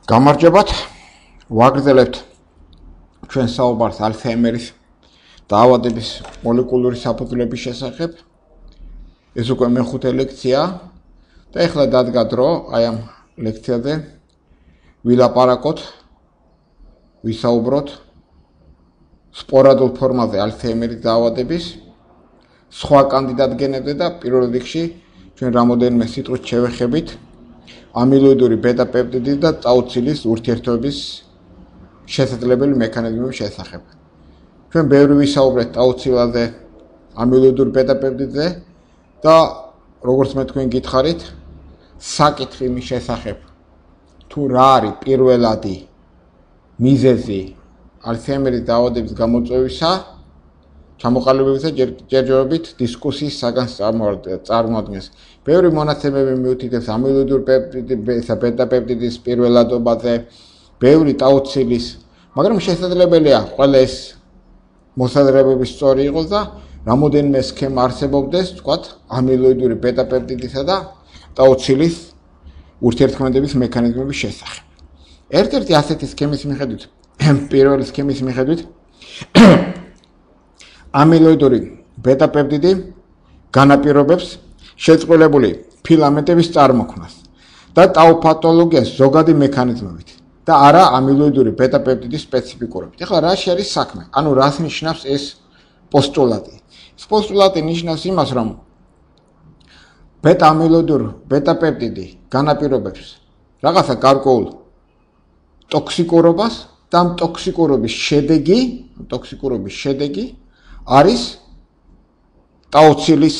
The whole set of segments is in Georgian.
გამარჯობათ, ვაგრძელებთ ჩვენ საუბარს ალცჰაიმერის დაავადების მოლეკულური საფუძვლების შესახებ. ეს უკვე მეხუთე ლექცია და ეხლა დადგა დრო აი ამ ლექციაზე ვილაპარაკოთ, ვისაუბროთ სპორადულ ფორმაზე ალცჰაიმერის დაავადების სხვა კანდიდატგენებზე და პირველ რიგში ჩვენ რამოდენიმე სიტყვით შევეხებით ამილოიდური ბეტა-პეპტიდის და წაუცილის ურთიერთობის შესაძლებელი მექანიზმების შესახებ. ჩვენ ბევრი ვისაუბრეთ წაუცილაზე, ამილოიდურ ბეტა-პეპტიდზე და როგორც მე თქვენ გითხარით, საკითხი იმის შესახებ, თუ რა არის პირველადი მიზეზი ალცჰაიმერის დაავადების გამოწვევისა, ჩამოყალიბებისა ჯერჯერობით დისკუსიის საგანს წარმოადგენს. ბევრი მონაცემები მიუთითებს ამილოიდურ ბეტა-პეპტიდის პირველადობაზე, ბევრი წაუცილის, მაგრამ შესაძლებელია ყველა ეს მოსაზრებები სწორი იყოს და რამოდენიმე სქემა არსებობდეს, ვთქვათ, ამილოიდური ბეტა-პეპტიდისა და წაუცილის ურთიერთქმედების მექანიზმების შესახებ. ერთ-ერთი ასეთი სქემის მიხედვით, პირველი სქემის მიხედვით ამილოიდური ბეტა-პეპტიდი განაპირობებს შეწყვილებული ფილამენტების წარმოქმნას და ტაუ-პათოლოგიას ზოგადი მექანიზმებით და არა ამილოიდური ბეტა-პეპტიდის სპეციფიკურობით. ეხლა რა არის საქმე? ანუ რას ნიშნავს ეს პოსტულატი? ეს პოსტულატი ნიშნავს იმას, რომ ბეტა-ამილოიდურ ბეტა-პეპტიდი განაპირობებს რაღაცა გარკვეულ ტოქსიკურობას და ამ ტოქსიკურობის შედეგი არის ტაუცილის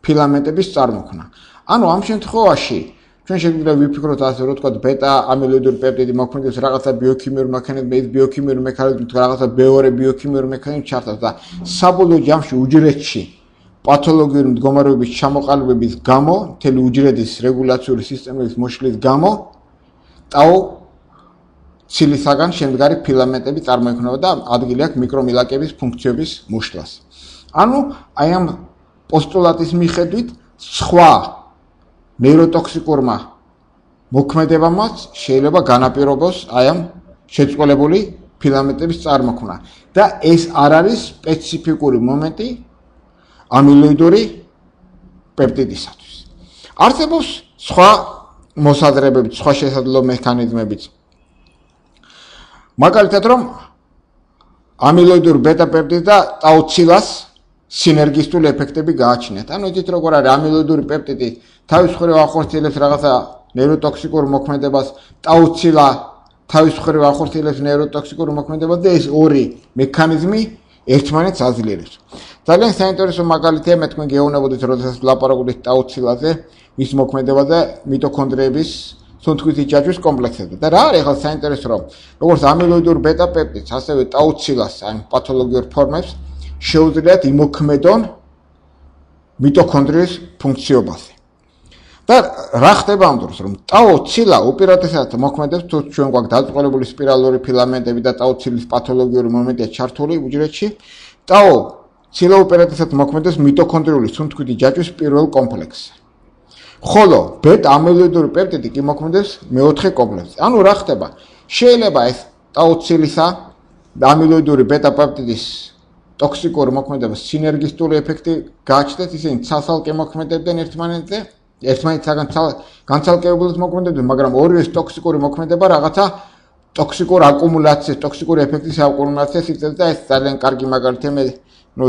ფილამენტების წარმოქმნა. ანუ ამ შემთხვევაში ჩვენ შეგვიძლია ვიფიქროთ ასე, რომ თქვა ბეტა-ამილოიდური პეპტიდი მოქმედებს რაღაცა ბიოქიმიური მექანიზმი, ეს ბიოქიმიური მექანიზმი რაღაცა მეორე ბიოქიმიური მექანიზმი ჩართავს და საბოლოო ჯამში უჯრედში პათოლოგიური მდგომარეობის ჩამოყალიბების გამო, მთელი უჯრედის რეგულაციური სისტემების მოშლის გამო ტაუ-ცილისაგან შემდგარი ფილამენტები წარმოიქმნება და ადგილი აქვს მიკრომილაკების ფუნქციების მოშლას. ანუ აი ამ პოსტულატის მიხედვით სხვა ნეიროტოქსიკურმა მოქმედებამაც შეიძლება განაპირობოს აი ამ შეწყვილებული ფილამენტების წარმოქმნა და ეს არ არის სპეციფიკური მომენტი ამილოიდური პეპტიდისათვის. არსებობს სხვა მოსაზრებები, სხვა შესაძლო მექანიზმებიც. მაგალითად, რომ ამილოიდურ ბეტა-პეპტიდს და ტაუცილას სინერგისტული ეფექტები გააჩნიათ. ანუ იცით როგორ არის ამილოიდური პეპტიდი თავის მხრივ ახორციელებს რაღაცა ნეიროტოქსიკურ მოქმედებას, ტაუცილა თავის მხრივ ახორციელებს ნეიროტოქსიკურ მოქმედებას და ეს ორი მექანიზმი ერთმანეთს აძლიერებს. ძალიან საინტერესო მაგალითია, მე თქვენ გეუბნებოდით, როდესაც ვლაპარაკობთ ტაუცილაზე, მის მოქმედებაზე, მიტოქონდრიების სუნთქვითი ჯაჭვის კომპლექსებზე. და რა არის ახლა საინტერესო, რომ როგორც ამილოიდურ ბეტა-პეპტიდს, ასევე ტაუცილას, ან პათოლოგიურ ფორმებს შეუძლიათ იმოქმედონ მიტოქონდრიის ფუნქციობაზე. და რა ხდება ამ დროს, რომ ტაუ-ცილა უპირატესად მოქმედებს, თუ ჩვენ გვაქვს დაწყვილებული სპირალური ფილამენტები და ტაუ-ცილის პათოლოგიური მომენტია ჩართული უჯრედში, ტაუ-ცილა უპირატესად მოქმედებს მიტოქონდრიული სუნთქვითი ჯაჭვის პირველ კომპლექსზე. ხოლო ბეტა-ამილოიდური პეპტიდი კი მოქმედებს მეოთხე კომპლექსზე. ანუ რა ხდება? შეიძლება ეს ტაუ-ცილისა და ამილოიდური ბეტა-პეპტიდის ტოქსიკური მოქმედების სინერგისტული ეფექტი გააჩნდათ, ისინი ცალ-ცალკე მოქმედებდნენ ერთმანეთისაგან განცალკევებულად მოქმედებდნენ, მაგრამ ორივეს ტოქსიკური მოქმედება რაღაცა ტოქსიკურ აკუმულაციას, ტოქსიკური ეფექტის აკუმულაციას იწვევს და ეს ძალიან კარგი მაგალითია. მე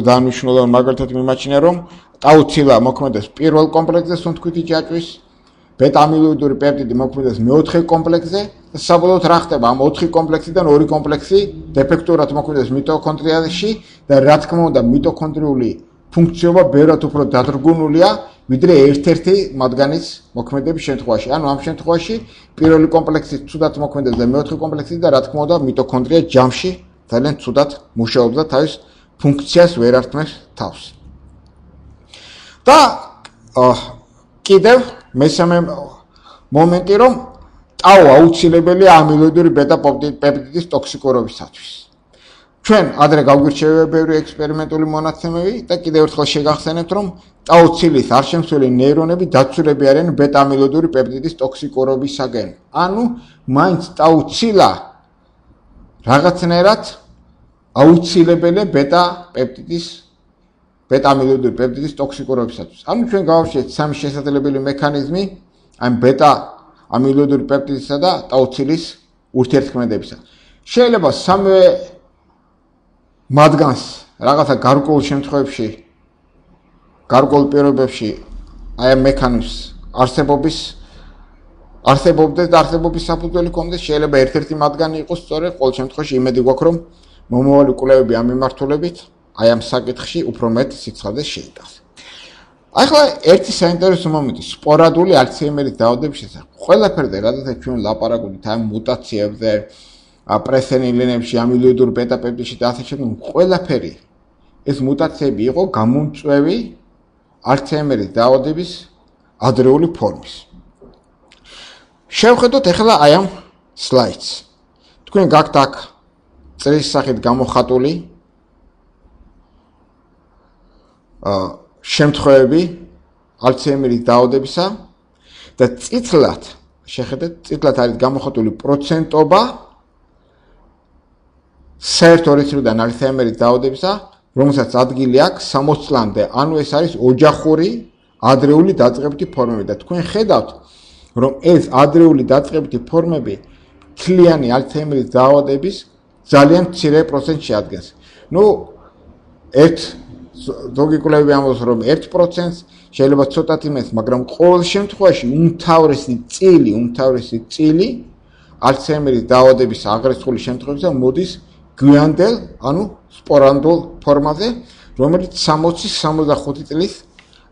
დანიშნულოვან მაგალითად მიმაჩნია, რომ ტაუცილა მოქმედებს პირველ კომპლექსზე სუნთქვითი ჯაჭვის, ბეტა-ამილოიდური პეპტიდი მოქმედებს მეოთხე კომპლექსზე და საბოლოოდ რა ხდება? ამ 4 კომპლექსიდან 2 კომპლექსი დეფექტურად მოქმედებს მიტოქონდრიაში და რა თქმა უნდა მიტოქონდრიული ფუნქციობა ბევრად უფრო დადრგუნულია, ვიდრე ერთ-ერთი მათგანის მოქმედების შემთხვევაში. ანუ ამ შემთხვევაში პირველი კომპლექსი ცუდად მოქმედებს და მეოთხე კომპლექსი და რა თქმა უნდა მიტოქონდრია ჯამში ძალიან ცუდად მუშაობს და თავის ფუნქციას ვერ ართმევს თავს. და კიდევ მესამე მომენტი, რომ ტაუ აუცილებელია ამილოიდური ბეტა-პეპტიდის ტოქსიკურობისათვის. ჩვენ ადრე გავგვირჩევია ბევრი ექსპერიმენტული მონაცემები და კიდევ ერთხელ შეგახსენებთ, რომ ტაუცილის არშემცველი ნეირონები დაცულები არიან ბეტა-ამილოიდური პეპტიდის ტოქსიკურობისაგან. ანუ მაინც ტაუცილა რაღაცნაირად აუცილებელია ბეტა-ამილოიდური პეპტიდის ტოქსიკურობისათვის. ანუ ჩვენ გავავშიეთ სამი შესაძლებელი მექანიზმი ამ ბეტა-ამილოიდური პეპტიდისა და ტაუცილის ურთიერთქმედებისა. შეიძლება სამივე მათგანს რაღაცა გარკვეულ შემთხვევებში, გარკვეულ პირობებში აი ამ მექანიზმს არსებობდეს და არსებობის საფუძველი ჰქონდეს, შეიძლება ერთ-ერთი მათგანი იყოს სწორედ, ყოველ შემთხვევაში იმედი გვაქვს, რომ მომავალი კვლევები ამ მიმართულებით აი ამ საკითხში უფრო მეტ სიცხადეს შეიტანს. ახლა ერთი საინტერესო მომენტი სპორადული ალცჰაიმერის დაავადების შესახებ. ყველაფერზე, რადგან ჩვენ ლაპარაკობთ ამ მუტაციებზე, პრესენილინებში, ამილოიდურ ბეტა-პეპტიდში და ასე შემდეგ, ყველაფერი ეს მუტაციები იყო გამომწვევი ალცჰაიმერის დაავადების ადრეული ფორმის. შევხედოთ ახლა აი ამ სლაიდს. თქვენ გაქვთ აქ წრის სახით გამოხატული შემთხვევები ალცჰაიმერის დაავადებისა და წითლად შეხედეთ, წითლად არის გამოხატული პროცენტობა საერთო რიცხვიდან ალცჰაიმერის დაავადებისა, რომელსაც ადგილი აქვს 60 წლამდე, ანუ ეს არის ოჯახური ადრეული დაწყებითი ფორმები და თქვენ ხედავთ, რომ ეს ადრეული დაწყებითი ფორმები მთლიანი ალცჰაიმერის დაავადების ძალიან მცირე პროცენტს შეადგენს. ზოგი კვლევები ამბობს, რომ 1%-ს შეიძლება ცოტათი მეტს, მაგრამ ყოველ შემთხვევაში უმთავრესი წილი ალცჰაიმერის დაავადების აღრეცხული შემთხვევებისა მოდის გვიანდელ, ანუ სპორადულ ფორმაზე, რომელიც 60-65 წლის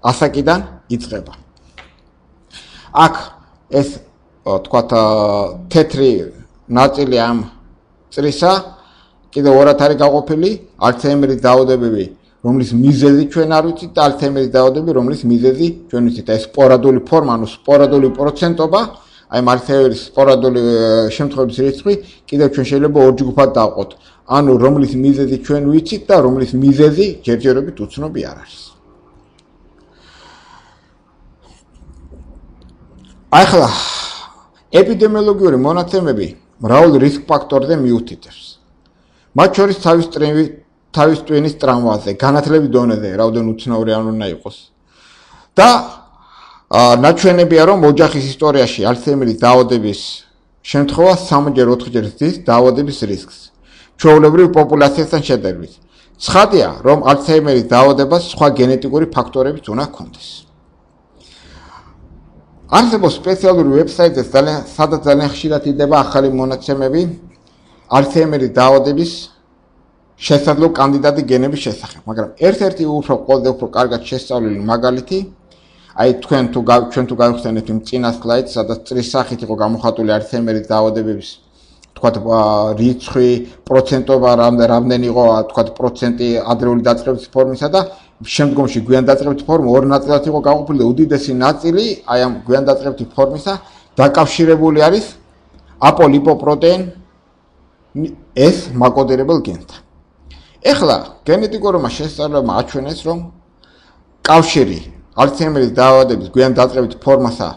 ასაკიდან იწყება. აქ ეს თქვათ თეთრი ნაწილი ამ წრისა კიდევ ორად არის გაყოფილი ალცჰაიმერის დაავადებები, რომლის მიზეზი ჩვენ არ ვიცით და ალცჰაიმერის დაავადებები, რომლის მიზეზი ჩვენ ვიცით. ეს სპორადული ფორმა, ანუ სპორადული პროცენტობა, აი ალცჰაიმერის სპორადული შემთხვევების რიცხვი კიდევ ჩვენ შეიძლება ორ ჯგუფად დავყოთ. ანუ რომლის მიზეზი ჩვენ ვიცით და რომლის მიზეზი ჯერჯერობით უცნობი არ არის. ახლა ეპიდემიოლოგიური მონაცემები მრავალ რისკ ფაქტორზე მიუთითებს. მათ შორის თავის ტვინის ტრამვაზე, განათლების დონეზე, რაოდენ უცნაური არ უნდა იყოს. და ნაჩვენებია, რომ ოჯახის ისტორიაში ალცჰაიმერის დაავადების შემთხვევა 3-4-ჯერ ზრდის დაავადების რისკს, ჩვეულებრივ პოპულაციასთან შედარებით. ცხადია, რომ ალცჰაიმერის დაავადებას სხვა გენეტიკური ფაქტორებიც უნდა ჰქონდეს. არსებობს სპეციალური ვებსაიტზე, სადაც ძალიან ხშირად იდება ახალი მონაცემები ალცჰაიმერის დაავადების შესაძლო კანდიდატი გენების შესახებ, მაგრამ ერთ-ერთი ყველაზე უფრო კარგად შესწავლილი მაგალითი, აი ჩვენ თუ გავიხსენებთ იმ წინა სლაიდს, სადაც წრის სახით იყო გამოხატული ალცჰაიმერის დაავადების, თქვათ რიცხვი, პროცენტობა რამდენი იყო, თქვათ პროცენტი ადრეული დაწყებითი ფორმისა და შემდგომში გვიან დაწყებითი ფორმა ორ ნაწილად იყო გაყოფილი და უდიდესი ნაწილი აი ამ გვიან დაწყებითი ფორმისა დაკავშირებული არის აპოლიპოპროტეინ S მაკოდირებელ გენთან. ეხლა გენეტიკურმა შესწავლებამ აჩვენეს, რომ კავშირი ალცჰაიმერის დაავადების გვიან დაწყებითი ფორმასა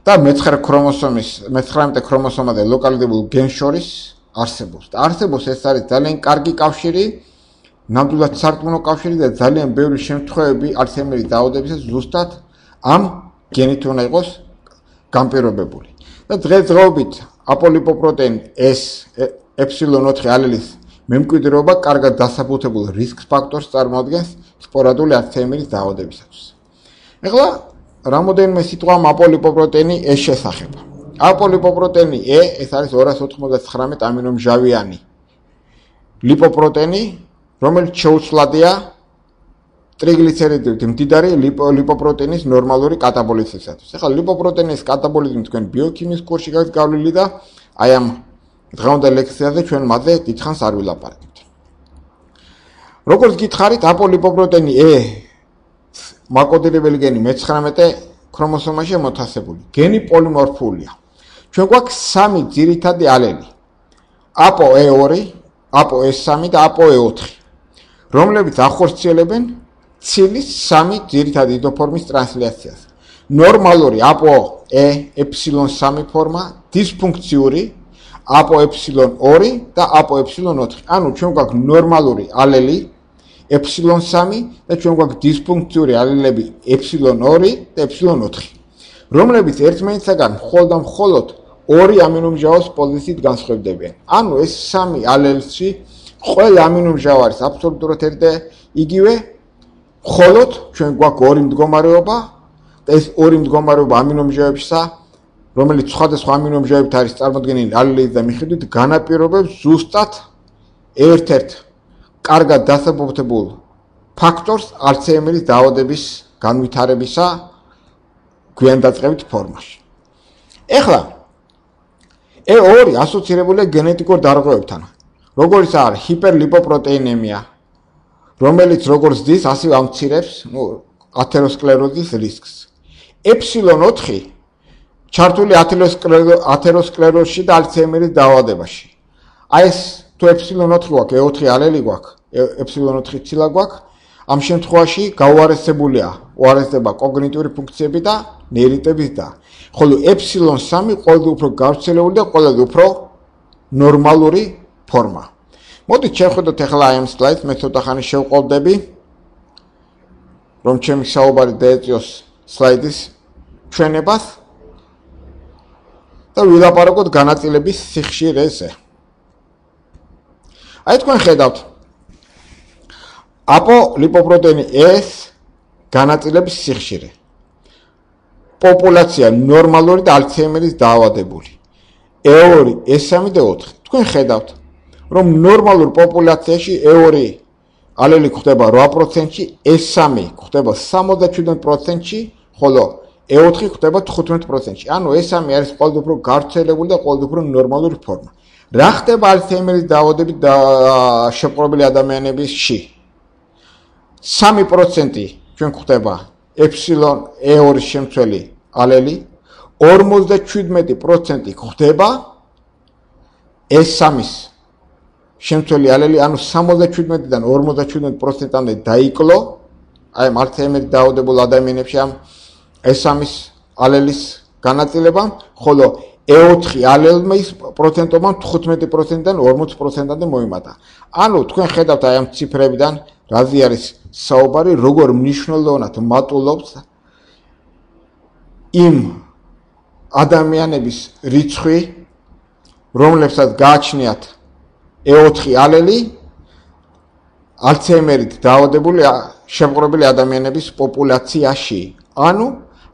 და 19 ქრომოსომაზე ლოკალიზებულ გენს შორის არსებობს. და არსებობს ეს არის ძალიან კარგი კავშირი, ნამდვილად სარწმუნო კავშირი და ძალიან ბევრი შემთხვევები ალცჰაიმერის დაავადებისას ზუსტად ამ გენით უნდა იყოს განპირობებული. და დღესდღეობით აპოლიპოპროტეინ S ε4 ალელის მემკვიდრეობა კარგად დასაბუთებულ რისკ ფაქტორს წარმოადგენს სპორადული ალცჰაიმერის დაავადებისათვის. ეხლა რამოდენიმე სიტყვა აპოლიპოპროტეინი E შესახებ. აპოლიპოპროტეინი E ეს არის 299 ამინომჟავიანი ლიპოპროტეინი, რომელიც შეუცვლადია ტრიგლიცერიდებით მდიდარი ლიპოპროტეინის ნორმალური კატაბოლიზმისათვის. ეხლა ლიპოპროტეინის კატაბოლიზმი თქვენ ბიოქიმიის კურსში გაქვთ გავლილი და აი ამ დღევანდელ ლექციაზე ჩვენ მათზე დიდხანს არ ვილაპარაკებთ. როგორც გითხარით, აპოლიპოპროტეინი E მაკოდირებელი გენი 19 ქრომოსომაშია მოთავსებული. გენი პოლიმორფულია. ჩვენ გვაქვს 3 ძირითადი ალელი. APOE2, ApoE3 და ApoE4, რომლებიც ახორციელებენ ცილის 3 ძირითადი იდოფორმის ტრანსლაციას. ნორმალური ApoE3 ფორმა, დისფუნქციური ApoE2 და ApoE4. ანუ ჩვენ გვაქვს ნორმალური ალელი ε3 და ჩვენ გვაქვს დისფუნქციური ალელები ε2 და ε4, რომლებიც ერთმანეთისაგან მხოლოდ 2 ამინომჟავას პოზიციით განსხვავდებიან. ანუ ეს 3 ალელში ყველა ამინომჟავარის აბსოლუტურად ერთ იგივე, მხოლოდ ჩვენ გვაქვს 2 მდგომარეობა და ეს 2 მდგომარეობა ამინომჟავებისა, რომელიც სხვადასხვა ამინომჟავებით არის წარმოდგენილი ალელის და მიხედვით, განაპირობებს ზუსტად ერთ-ერთ კარგად დასაბუთებულ ფაქტორს ალცჰაიმერის დაავადების განვითარებისა გვიანდაწყებით ფორმაში. ეხლა E2 ასოცირებულია გენეტიკურ დარღვევებთან, როგორიც არის ჰიპერლიპოპროტეინემია, რომელიც როგორც დის, ასევე ამცირებს ათეროსკლეროზის რისკს. ε4 ჩართული ათეროსკლეროზში და ალცჰაიმერის დაავადებაში. აი ეს თუ ε4 გვაქვს, E4 ალელი გვაქვს, ε4 ცილა გვაქვს, ამ შემთხვევაში უარესდება კოგნიტიური ფუნქციები და ნეირიტების და. ხოლო ε3 ყველაზე უფრო გავრცელებული და ყველაზე უფრო ნორმალური ფორმა. მოდით შევხედოთ ახლა აი ამ სლაიდს, მე ცოტა ხანი შევყოლდები, რომ ჩემი საუბარი დაეწიოს სლაიდის ჩვენებას და ვილაპარაკოთ განაწილების სიხშირეზე. აი თქვენ ხედავთ ApoLipoprotein S განაწილების სიხშირე. პოპულაცია ნორმალური და ალცჰაიმერის დაავადებული. E2, E3 და 4. თქვენ ხედავთ, რომ ნორმალურ პოპულაციაში E2 ალელი გვხდება 8%-ში, E3 გვხდება 77%-ში, ხოლო E4 გვხდება 15%-ში. ანუ E3 არის ყველაზე უფრო გავრცელებული და ყველაზე უფრო ნორმალური ფორმა. რა ხდება ალცჰაიმერის დაავადებით შეპყრობილი ადამიანებისში? 3% ჩვენ გვხდება E2 შემცველი ალელი, 57% გვხდება E3 შემცველი ალელი, ანუ 77-დან 57%-მდე დაიკლო აი ალცჰაიმერის დაავადებულ ადამიანებში ამ E3 ალელის განაწილება, ხოლო E4 ალელის პროცენტობა 15%-დან 40%-მდე მოიმატა. ანუ თქვენ ხედავთ აი ამ ციფრებიდან რაზე არის საუბარი, როგორ მნიშვნელოვნად მატულობს იმ ადამიანების რიცხვი, რომლებსაც გააჩნიათ E4 ალელი ალცჰაიმერით დაავადებული შეპყრობილი ადამიანების პოპულაციაში. ანუ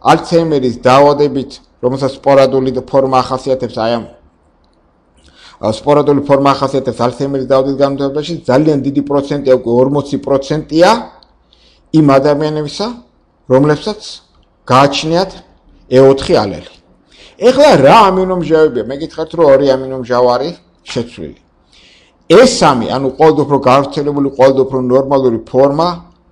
ალცჰაიმერის დაავადებით, რომელსაც სპორადული ფორმა ახასიათებს, აი ამ სპორადული ფორმა ახასიათებს ალცჰაიმერის დაავადების განვითარებაში, ძალიან დიდი პროცენტია, უკვე 40%-ია იმ ადამიანებისა, რომლებსაც გააჩნიათ E4 ალელი. ეხლა რა ამინომჟავებია? მე გითხრათ, რომ 2 ამინომჟავარი შეცვლილი. E3, ანუ ყველაზე უფრო გავრცელებული, ყველაზე უფრო ნორმალური ფორმა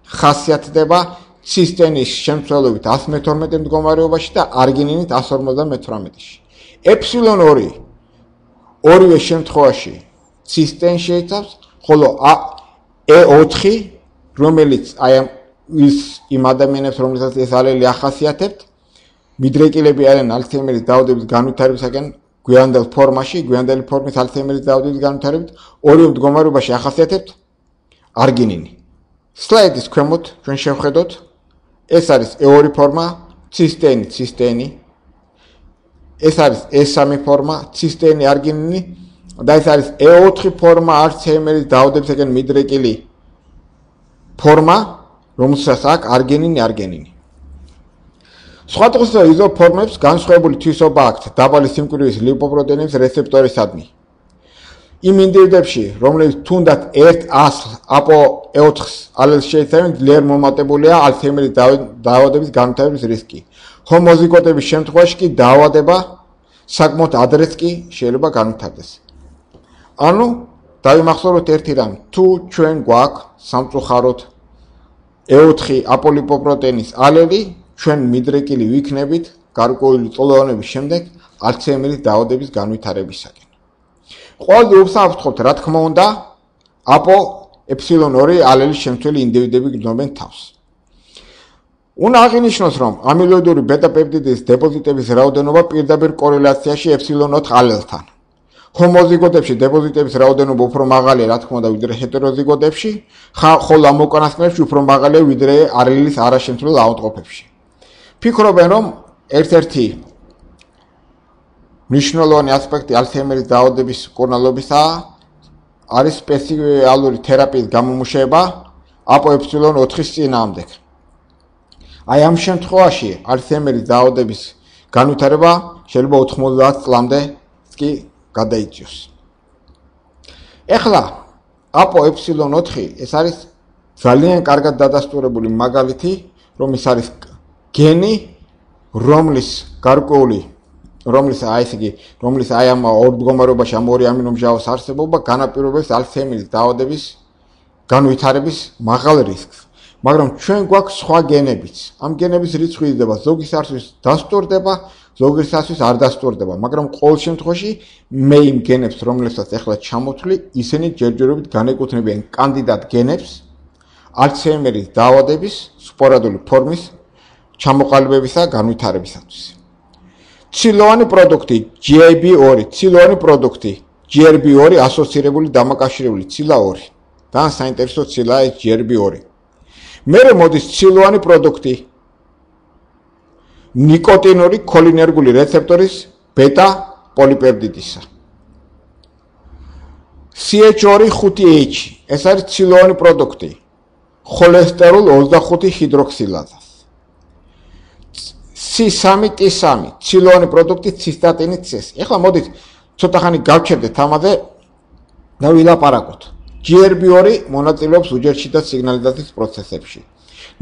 ხასიათდება ცისტენის შემცველობით 112 მდგომარეობაში და არგინინით 158-ში. ε2 ორივე შემთხვევაში ცისტენ შეიცავს, ხოლო E4, რომელიც აი იმ ადამიანებს, რომლებსაც ეს ალელი ახასიათებთ, მიდრეკილები არიან ალცჰაიმერის დაავადების განვითარებისაკენ გვიანდელ ფორმაში, გვიანდელი ფორმის ალცჰაიმერის დაავადების განვითარებით, ორივე მდგომარეობაში ახასიათებთ არგინინი. სლაიდის ქვემოთ ჩვენ შევხედოთ, ეს არის E2 ფორმა, ცისტენი, ეს არის E3 ფორმა, ცისტენი, არგინინი და ეს არის E4 ფორმა, ალცჰაიმერის დაავადებისაკენ მიდრეკილი ფორმა, რომელსაც აქვს არგინინი. სხვადასხვა იზოფორმებს განსხვავებული თვისობა აქვთ დაბალი სიმკვრივის ლიპოპროტეინების რეცეპტორისადმი. იმ ინდივიდებში, რომლებიც თუნდაც ერთ ასლ ApoE4 ალელს შეიცავენ, ძლიერ მომატებულია ალცჰაიმერის დაავადების განვითარების რისკი. ჰომოზიგოტების შემთხვევაში კი დაავადება საკმაოდ ადრეც კი შეიძლება განვითარდეს. ანუ დავიმახსოვროთ ერთი რამ, თუ ჩვენ გვაქვს სამწუხაროდ E4 ApoLipoproteinis ალელი, ჩვენ მიდრეკილი ვიქნებით გარკვეული წლოვანების შემდეგ ალცჰაიმერის დაავადების განვითარებისაკენ. ყველაზე უსაფრთხოდ, რა თქმა უნდა, APO ε2 ალელის შემცველი ინდივიდები გრძნობენ თავს. უნდა აღინიშნოს, რომ ამილოიდური ბეტა-პეპტიდის დეპოზიტების რაოდენობა პირდაპირ კორელაციაში ε4 ალელთან. ჰომოზიგოტებში დეპოზიტების რაოდენობა უფრო მაღალია, რა თქმა უნდა, ვიდრე ჰეტეროზიგოტებში, ხოლო ამ უკანასკნელებში უფრო მაღალია, ვიდრე ალელის არაშემცვლელ აუტყოფებში. ფიქრობენ, რომ ერთ-ერთი მნიშვნელოვანი ასპექტი ალცჰაიმერის დაავადების მკურნალობისა არის სპეციალური თერაპიის გამომუშავება APOE4-ის წინააღმდეგ. Აი ამ შემთხვევაში ალცჰაიმერის დაავადების განვითარება შეიძლება 90 წლამდე კი გადაიწიოს. ეხლა APOE4 ეს არის ძალიან კარგად დადასტურებული მაგალითი, რომ ის არის გენი, რომლის გარკვეული რომლის აი ამ ორ მდგომარეობაში ამ ორი ამინომჟავას არსებობა განაპირობებს ალცჰაიმერის დაავადების განვითარების მაღალ რისკს. მაგრამ ჩვენ გვაქვს სხვა გენებიც. ამ გენების რიცხვი იზრდება, ზოგისათვის დასტურდება, ზოგისათვის არ დასტურდება, მაგრამ ყოველ შემთხვევაში მე იმ გენებს, რომლებსაც ახლა ჩამოთვლი, ისინი ჯერჯერობით განეკუთვნებიან კანდიდატ გენებს ალცჰაიმერის დაავადების სპორადული ფორმის ჩამოყალიბებისა განვითარებისათვის. ცილოვანი პროდუქტი GRB2, ცილოვანი პროდუქტი GRB2 ასოცირებული დამაკავშირებული ცილა 2. და საინტერესო ცილაა ეს GRB2. მერე მოდის ცილოვანი პროდუქტი ნიკოტინური ქოლინერგული რეცეპტორის ბეტა პოლიპეპტიდისა. CH2-5H ეს არის ცილოვანი პროდუქტი ხოლესტეროლ 25 ჰიდროქსილაზას. C3T3 ცილოვანი პროდუქტი ცისტატინი C-ს. ეხლა მოდით ცოტა ხანი გავჩერდეთ ამაზე და ვილაპარაკოთ. GRB2 მონაწილეობს უჯერშთა სიგნალიზაციის პროცესებში.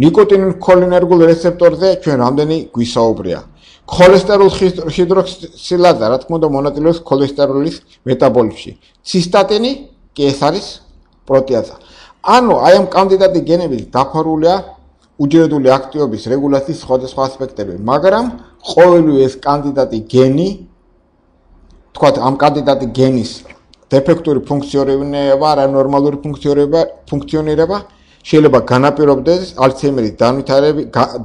ნიკოტინურ ქოლინერგულ რეცეპტორზე ჩვენ რამდენი გვისაუბრია. ქოლესტეროლ ჰიდროქსილაზა, რა თქმა უნდა, მონაწილეობს ქოლესტეროლის მეტაბოლიზმში. ცისტატინი კი ეს არის პროტეაზა. ანუ აი ამ კანდიდატი გენები დაფარულია უჯრედული აქტივობის რეგულაციის სხვადასხვა ასპექტები, მაგრამ ყოველივე ეს კანდიდატი გენი, თქვათ ამ კანდიდატი გენის დეფექტური ფუნქციონირება, არა ნორმალური ფუნქციონირება შეიძლება განაპირობდეს ალცჰაიმერის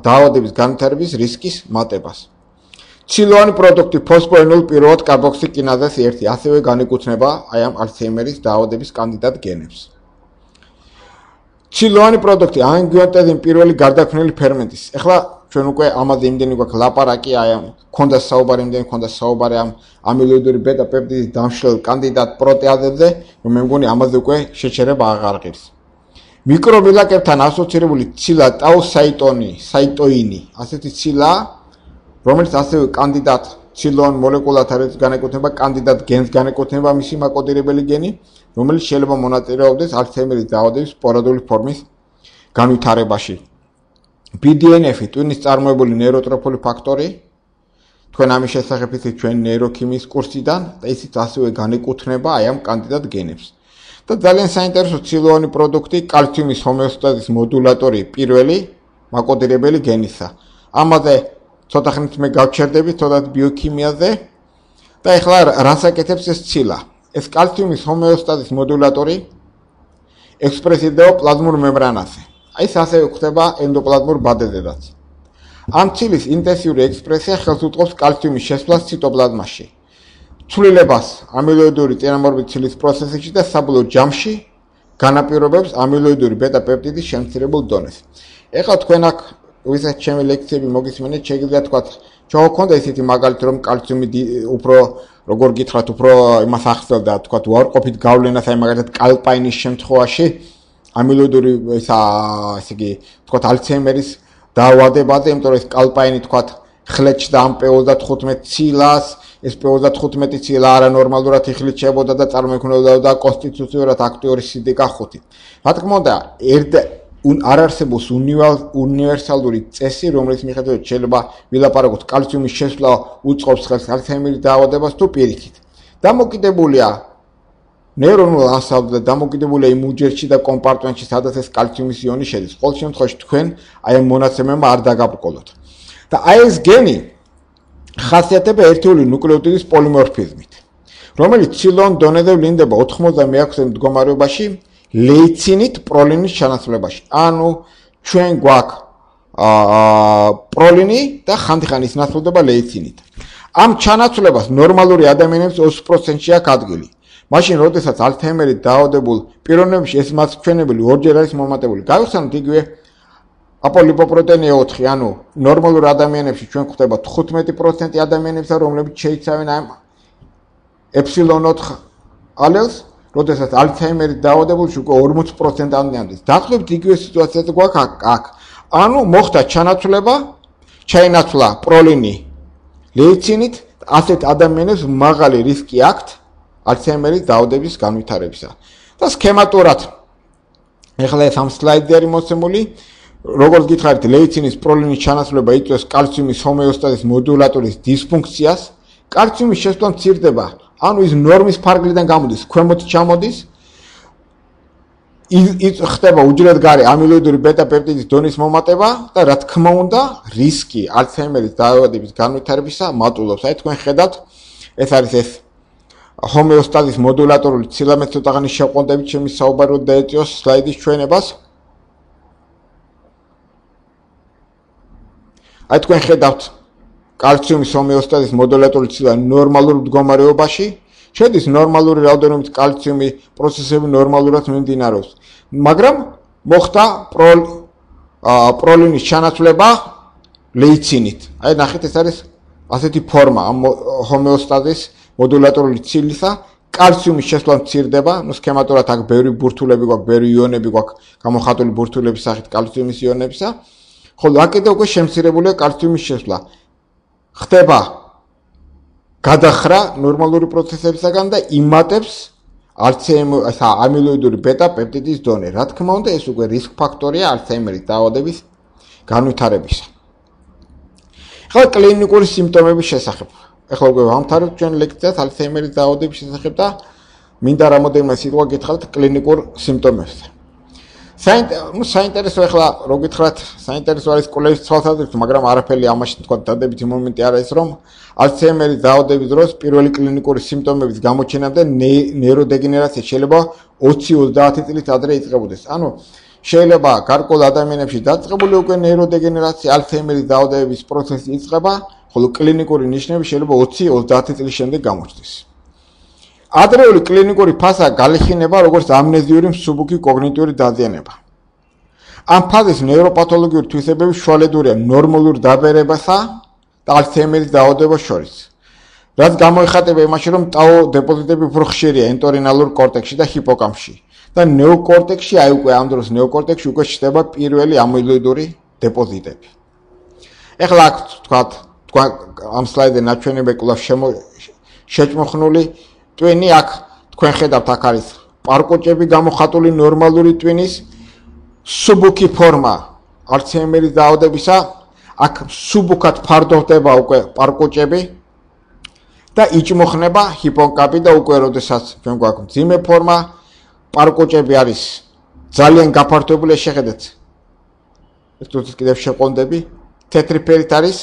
დაავადების განვითარების რისკის მატებას. ცილოვანი პროდუქტი ფოსფოენილ პირველად კარბოქსილკინაზას 1 ასევე განეკუთვნება აი ამ ალცჰაიმერის დაავადების კანდიდატ გენებს. ცილოვანი პროდუქტი ანგიოტენზის პირველი გარდაქმნილი ფერმენტის. ეხლა ჩვენ უკვე ამაზე იმდენი გვაქვს ლაპარაკი, აი ამ ქონდა საუბარი ამ ამილოიდური ბეტა-პეპტიდის დამშლელ კანდიდატ პროტეაზებზე, რომ მე მგონი ამაზე უკვე შეჩერება აღარ ღირს. მიკრომილაკებთან ასოცირებული ცილა ტაუსაიტოინი, ასეთი ცილა, რომელიც ასევე კანდიდატ ცილოვან მოლეკულათა არის განეკუთვნება, კანდიდატ გენს განეკუთვნება მისი მაკოდირებელი გენი, რომელიც შეიძლება მონაწილეობდეს ალცჰაიმერის დაავადების სპორადული ფორმის განვითარებაში. BDNF-ი ტვინის წარმოებული ნეიროტროფული ფაქტორი, თქვენ ამის შესახებ იცით ჩვენ ნეიროქიმიის კურსიდან და ისიც ასევე განეკუთვნება აი ამ კანდიდატ გენებს. და ძალიან საინტერესო ცილოვანი პროდუქტი კალციუმის ჰომეოსტაზის მოდულატორი პირველი მაკოდირებელი გენისა. ამაზე ცოტა ხნით მე გავჩერდები ცოტა ბიოქიმიაზე და ეხლა რას აკეთებს ეს ცილა? ეს კალციუმის ჰომეოსტაზის მოდულატორი ექსპრესირდება პლაზმურ მემბრანაზე. აი ეს ასევე ხდება ენდოპლაზმურ ბადებზედაც. ამ ცილის ინტენსიური ექსპრესია ხელს უწყობს კალციუმის შესვლას ციტოპლაზმაში. ცვლილებას ამილოიდური წინამორბედი ცილის პროცესებში და საბოლოო ჯამში განაპირობებს ამილოიდური ბეტა-პეპტიდის შემცირებულ დონეს. ეხლა თქვენ აქ ვისაც ჩემი ლექციები მოგისმენთ, შეგიძლიათ თქვათ, ჩავქონდა ისეთი მაგალითი, რომ კალციუმი უფრო როგორ გითხრათ, უფრო იმას ახსენდა, თქვათ, უარყოფით გავლენას, აი მაგალითად კალპაინის შემთხვევაში ამილოიდური ესე იგი, თქვათ, ალცჰაიმერის დაავადებაზე, იმიტომ რომ ეს კალპაინი თქვათ, ხლეჭდა ამ P35 ცილას, ეს P35 ცილა არანორმალურად იხლიჩებოდა და წარმოიქმნებოდა კონსტიტუციურად აქტიური CDK5. რა თქმა უნდა, არ არსებობს უნივერსალური წესი, რომელიც მიხედვით შეიძლება ვილაპარაკოთ კალციუმის შესვლა უწყობს ხელს ალცჰაიმერის დაავადებას თუ პირიქით. დამოკიდებულია ნეირონულ ანსამბლზე, დამოკიდებულია იმ უჯრედში და კომპარტმენტში, სადაც ეს კალციუმის იონი შედის. ყოველ შემთხვევაში თქვენ აი ამ მონაცემებმა არ დაგაბრკოლოთ. და აი ეს გენი ხასიათდება ერთეული ნუკლეოტიდის პოლიმორფიზმით, რომელიც ცილოვან დონეზე ვლინდება 96-ე მდგომარეობაში, ლეიცინით პროლინის ჩანაცვლებაში. ანუ ჩვენ გვაქვს პროლინი და ხანდახან ის ნაცვლდება ლეიცინით. ამ ჩანაცვლებას ნორმალური ადამიანებს 20%-ში აქვს ადგილი. მაშინ, როდესაც ალცჰაიმერით დაავადებულ პიროვნებში ეს მასჩვენებელი ორჯერ არის მომატებული. გავიხსენოთ იგივე აპოლიპოპროტეინი 4, ანუ ნორმალურ ადამიანებში ჩვენ გვხვდება 15% ადამიანებსა, რომლებიც შეიცავენ ამ ε4 ალელს, როდესაც ალცჰაიმერით დაავადებულში უკვე 40%-ამდე ამდის. დაახლოებით იგივე სიტუაციაც გვაქვს აქ. ანუ მოხდა ჩანაცვლება, ჩაინაცვლა პროლინი ლეიცინით, ასეთ ადამიანებს მაღალი რისკი აქვთ ალცჰაიმერის დაავადების განვითარებისა. და სქემატურად ეხლა ეს ამ სლაიდზე არის მოცემული, როგორც გითხარით, ლეიცინის პროლინის ჩანაცვლება იწვევს კალციუმის ჰომეოსტაზის მოდულატორის დისფუნქციას. კალციუმის შესვლა მცირდება, ანუ ის ნორმის ფარგლიდან გამოდის, ქვემოთ ჩამოდის. ხდება უჯრედგარე ამილოიდური ბეტა-პეპტიდის დონის მომატება და რა თქმა უნდა, რისკი ალცჰაიმერის დაავადების განვითარებისა მატულობს. აი თქვენ ხედავთ, ეს არის ეს ჰომეოსტაზის მოდულატორული ცილა მე ცოტაღანი შეყვანდებით ჩემი საუბარო დაეწიოს სლაიდის ჩვენებას. აი თქვენ ხედავთ კალციუმის ჰომეოსტაზის მოდულატორული ცილა ნორმალურ მდგომარეობაში, შედის ნორმალური რაოდენობით კალციუმი პროცესები ნორმალურად მიმდინარეობს. მაგრამ მოხდა პროლინის ჩანაცვლება ლეიცინით. აი ნახეთ, ეს არის ასეთი ფორმა ამ ჰომეოსტაზის მოდულატორული ცილისა, კალციუმის შესვლა მცირდება, ნუ სქემატურად აქ ბევრი ბურთულები გვაქვს, ბევრი იონები გვაქვს, გამოხატული ბურთულების სახით კალციუმის იონებისა, ხოლო აქ კიდევ უკვე შემცირებულია კალციუმის შესვლა. ხდება გადახრა ნორმალური პროცესებისაგან და იმატებს ამილოიდური ბეტა-პეპტიდის დონე. რა თქმა უნდა, ეს უკვე რისკ ფაქტორია ალცჰაიმერის დაავადების განვითარებისა. ახლა კლინიკური სიმპტომების შესახებ. ახლა უკვე ვამთავრებთ ჩვენ ლექციას ალცჰაიმერის დაავადების შესახებ და მინდა რამოდენიმე სიტყვა გითხრათ კლინიკურ სიმპტომებზე. საინტერესო ახლა რო გითხრათ, საინტერესო არის კვლევის თვალსაზრისით, მაგრამ არაფერი ამაში თქვა დადებითი მომენტი არ არის, რომ ალცჰაიმერის დაავადების დროს პირველი კლინიკური სიმპტომების გამოჩენამდე ნეიროდეგენერაცია შეიძლება 20-30 წლით ადრე იწყებოდეს. ანუ შეიძლება გარკვეულ ადამიანებში დაწყებული უკვე ნეიროდეგენერაცია, ალცჰაიმერის დაავადების პროცესი იწყება, ხოლო კლინიკური ნიშნები შეიძლება 20-30 წლის შემდეგ გამოჩნდეს. ადრეული კლინიკური ფაზა გაიხინება როგორც ამნეზიური მსუბუქი კოგნიტიური დაზიანება. ამ ფაზის ნეიროპათოლოგიური თვისებები შუალედურია ნორმალურ დაბერებასა და ალცჰაიმერის დაავადებას შორის. რაც გამოიხატება იმაში, რომ ტაო დეპოზიტები უფრო ხშირია ენტორინალურ კორტექსში და ჰიპოკამპში და ნეოკორტექსში, აი უკვე ამ დროს ნეოკორტექსში უკვე ჩნდება პირველი ამილოიდური დეპოზიტები. ეხლა აქ თქვა ამ სლაიდზე ნაჩვენები კვლავ შეჭმოხნული ტვინი აქ თქვენ ხედავთ, აქ არის პარკოჭები გამოხატული ნორმალური ტვინის სუბუქი ფორმა ალცჰაიმერის დაავადებისა, აქ სუბუქად ფარდოვდება უკვე პარკოჭები და იჭმოხნება ჰიპოკამპი და უკვე როდესაც ჩვენ გვაქვს მძიმე ფორმა, პარკოჭები არის ძალიან გაფართოებული, შეხედეთ. ეს თვითონ კიდევ შეყვანდები, თეთრი ფერით არის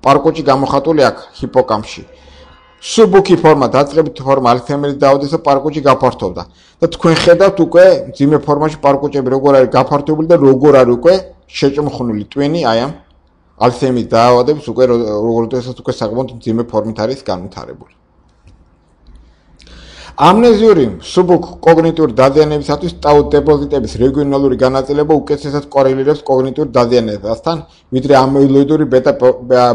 პარკოჭი გამოხატული აქ ჰიპოკამპში. სუბუქი ფორმა, დაწყებითი ფორმა ალცჰაიმერის დაავადებისა პარკოჭი გაფართოვდა და თქვენ ხედავთ უკვე მძიმე ფორმაში პარკოჭები როგორ არის გაფართოებული და როგორ არის უკვე შეჭმოხნული ტვინი აი ამ ალცჰაიმერის დაავადების უკვე როდესაც უკვე საკმაოდ მძიმე ფორმით არის განვითარებული. ამნეზიური სუბუქ კოგნიტური დაზიანებისათვის ტაუ დეპოზიტების რეგიონალური განაწილება უკეთესად კორელირებს კოგნიტურ დაზიანებასთან, ვიდრე ამილოიდური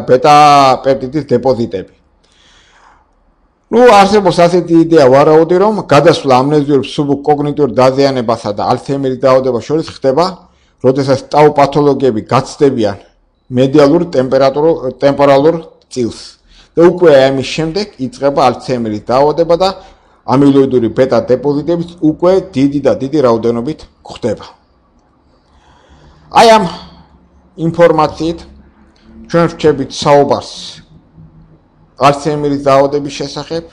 ბეტა-პეპტიდის დეპოზიტები. ნუ არსებობს ასეთი იდეა ვარაუდი, რომ გადასვლა ამნეზიურ სუბუქ კოგნიტურ დაზიანებასა და ალცჰაიმერის დაავადებას შორის ხდება, როდესაც ტაუ პათოლოგიები გაცდებიან მედიალურ ტემპორალურ წილს და უკვე ამის შემდეგ იწყება ალცჰაიმერის დაავადება და ამილოიდური ბეტა დეპოზიტების უკვე დიდი რაოდენობით გვხდება. აი ამ ინფორმაციით ჩვენ ვჩებით საუბარს ალცჰაიმერის დაავადების შესახებ.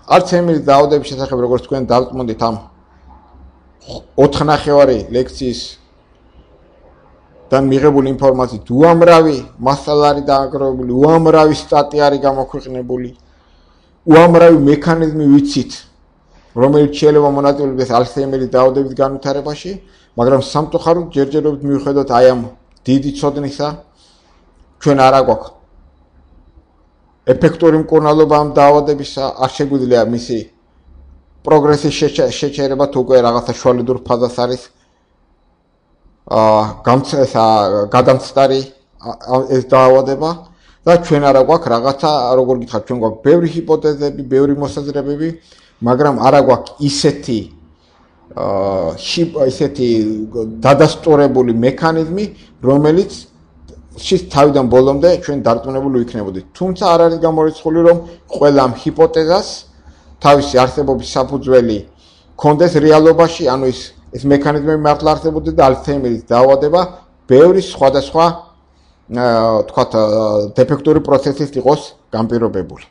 ალცჰაიმერის დაავადების შესახებ, როგორც თქვენ დავწმუნდით ამ 4 ნახევარი ლექციის და მიღებული ინფორმაციით უამრავი მასალა არის დააგროვებული, უამრავი სტატია არის გამოქვეყნებული, უამრავი მექანიზმი ვიცით, რომელიც შეიძლება მონაწილეობდეს ალცჰაიმერის დაავადების განვითარებაში, მაგრამ სამწუხაროდ ჯერჯერობით მიუხედავად აი ამ დიდი ცოდნისა, ჩვენ არ აგვაქვს ეფექტური მკურნალობა ამ დაავადებისა, არ შეგვიძლია მისი პროგრესის შეჩერება თუ უკვე რაღაცა შუალედურ ფაზას არის გადამცდარი ეს დაავადება და ჩვენ არ აგვაქვს რაღაცა, როგორ გითხრათ, ჩვენ გვაქვს ბევრი ჰიპოთეზები, ბევრი მოსაზრებები, მაგრამ არ აგვაქვს ისეთი დადასტურებული მექანიზმი, რომელიც თავიდან ბოლომდე ჩვენ დარწმუნებული ვიქნებოდით. თუმცა არ არის გამორიცხული, რომ ყველა ამ ჰიპოთეზას თავისი არსებობის საფუძველი კონდეს რეალობაში, ანუ ეს მექანიზმები მართლა არსებობდეს და ალცჰაიმერის დაავადება ბევრი სხვადასხვა, თქვათ, დეფექტური პროცესით იყოს განპირობებული.